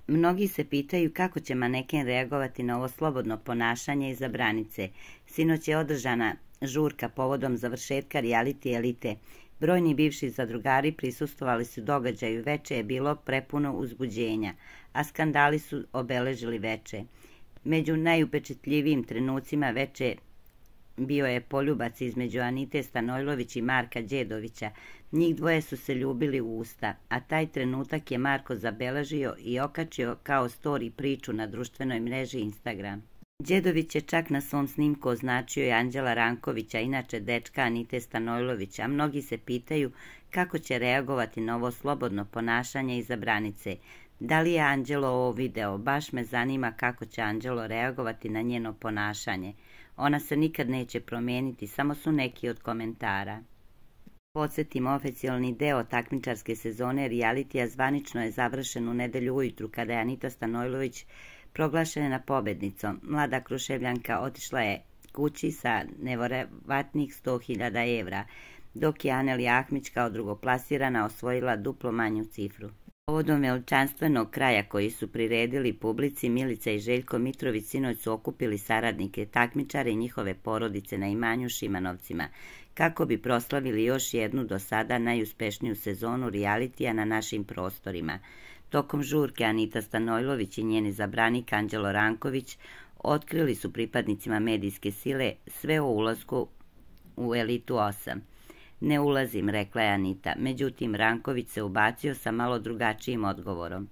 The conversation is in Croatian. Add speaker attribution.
Speaker 1: Mnogi se pitaju kako će maneken reagovati na ovo slobodno ponašanje iza branice. Sinoć je održana žurka povodom završetka reality elite. Brojni bivši zadrugari prisustvovali su događaju, veče je bilo prepuno uzbuđenja, a skandali su obeležili veče. Među najupečetljivijim trenucima veče bio je poljubac između Anite Stanojlović i Marka Đedovića. Njih dvoje su se ljubili u usta, a taj trenutak je Marko zabeležio i okačio kao story priču na društvenoj mreži Instagram. Đedović je čak na svom snimku označio i Anđela Rankovića, inače dečka Anite Stanojlović, a mnogi se pitaju kako će reagovati na ovo slobodno ponašanje iza branice. Da li je Anđelo ovo video? Baš me zanima kako će Anđelo reagovati na njeno ponašanje. Ona se nikad neće promijeniti, samo su neki od komentara. Podsjetimo, oficijalni deo takmičarske sezone realitija zvanično je završen u nedelju ujutru kada je Anita Stanojlović proglašena pobednicom. Mlada Kruševljanka otišla je kući sa neverovatnih 100.000 evra, dok je Anelija Ahmić kao drugoplasirana osvojila duplo manju cifru. Povodom veličanstvenog kraja koji su priredili publici, Milica i Željko Mitrović sinoć su okupili saradnike, takmičare i njihove porodice na imanju Šimanovcima, kako bi proslavili još jednu do sada najuspešniju sezonu realitija na našim prostorima. Tokom žurke Anita Stanojlović i njeni zabranik Anđelo Ranković otkrili su pripadnicima medijske sile sve o ulasku u Elitu 8. Ne ulazim, rekla je Anita, međutim Ranković se ubacio sa malo drugačijim odgovorom.